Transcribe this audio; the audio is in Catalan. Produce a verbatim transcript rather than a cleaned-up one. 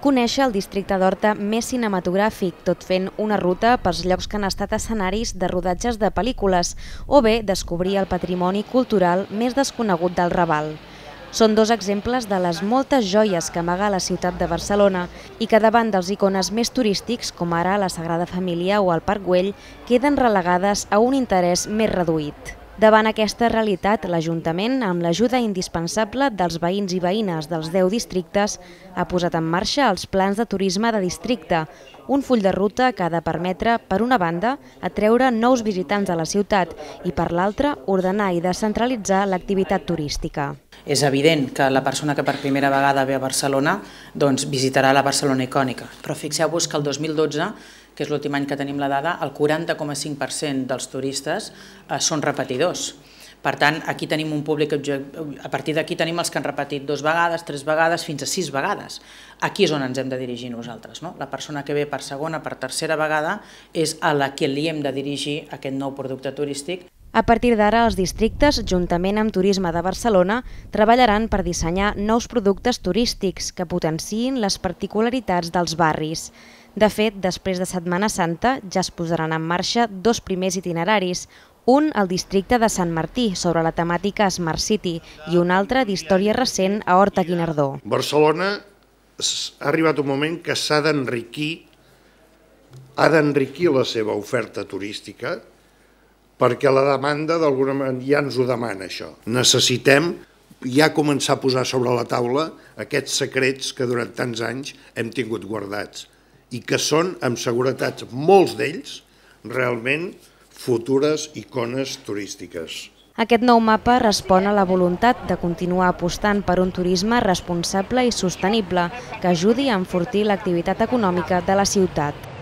conèixer el districte d'Horta més cinematogràfic, tot fent una ruta pels llocs que han estat escenaris de rodatges de pel·lícules, o bé descobrir el patrimoni cultural més desconegut del Raval. Són dos exemples de les moltes joies que amaga la ciutat de Barcelona i que davant dels icones més turístics, com ara la Sagrada Família o el Parc Güell, queden relegades a un interès més reduït. Davant aquesta realitat, l'Ajuntament, amb l'ajuda indispensable dels veïns i veïnes dels deu districtes, ha posat en marxa els plans de turisme de districte, un full de ruta que ha de permetre, per una banda, atreure nous visitants a la ciutat i, per l'altra, ordenar i descentralitzar l'activitat turística. És evident que la persona que per primera vegada ve a Barcelona doncs, visitarà la Barcelona icònica, però fixeu-vos que el dos mil dotze, que és l'últim any que tenim la dada, el quaranta coma cinc per cent dels turistes eh, són repetidors. Per tant, aquí tenim un públic, a partir d'aquí tenim els que han repetit dues vegades, tres vegades, fins a sis vegades. Aquí és on ens hem de dirigir nosaltres, no? La persona que ve per segona, per tercera vegada, és a la que li hem de dirigir aquest nou producte turístic. A partir d'ara, els districtes, juntament amb Turisme de Barcelona, treballaran per dissenyar nous productes turístics que potenciïn les particularitats dels barris. De fet, després de Setmana Santa ja es posaran en marxa dos primers itineraris, un al districte de Sant Martí, sobre la temàtica Smart City, i un altre d'història recent a Horta-Guinardó. Barcelona ha arribat un moment que s'ha d'enriquir, ha d'enriquir la seva oferta turística, perquè la demanda d'alguna manera ja ens ho demana això. Necessitem ja començar a posar sobre la taula aquests secrets que durant tants anys hem tingut guardats i que són, amb seguretat, molts d'ells, realment futures icones turístiques. Aquest nou mapa respon a la voluntat de continuar apostant per un turisme responsable i sostenible que ajudi a enfortir l'activitat econòmica de la ciutat.